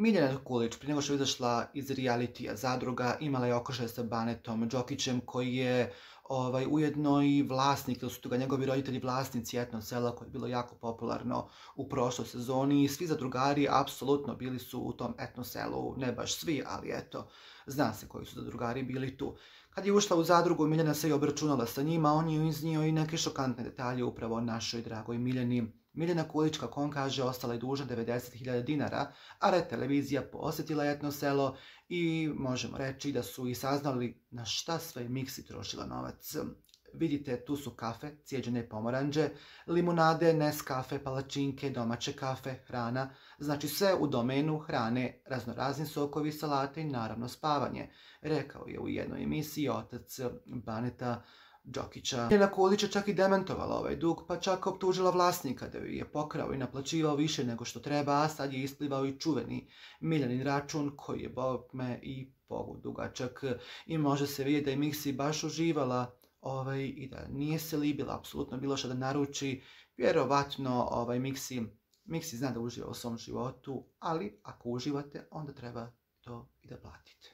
Miljana Kulić, prije nego što je izašla iz realitija Zadruga, imala je okršaj sa Banetom Đokićem, koji je ujedno i vlasnik, ili su ga njegovi roditelji vlasnici Etno sela, koje je bilo jako popularno u prošloj sezoni. I svi zadrugari apsolutno bili su u tom Etno selu, ne baš svi, ali eto, zna se koji su zadrugari bili tu. Kad je ušla u Zadrugu, Miljana se i obračunala sa njima, on je iznio i neke šokantne detalje upravo o našoj dragoj Miljani. Miljana Kulić, kako on kaže, ostala je dužna 90.000 dinara, a Red televizija posjetila Etno selo i možemo reći da su i saznali na šta sve Miksi trošila novac. Vidite, tu su kafe, cijeđene pomoranđe, limunade, Nescafe, palačinke, domaće kafe, hrana, znači sve u domenu hrane, raznorazni sokovi, salate i naravno spavanje, rekao je u jednoj emisiji otac Baneta Đokića. Miljana Kulić je čak i demantovala ovaj dug, pa čak optužila vlasnika da ju je pokrao i naplaćivao više nego što treba, a sad je isplivao i čuveni Miljanin račun koji je bogme i Bogu dugačak. I može se vidjeti da je Miksi baš uživala i da nije se libila apsolutno bilo što da naruči. Vjerovatno Miksi zna da uživa u svom životu, ali ako uživate, onda treba to i da platite.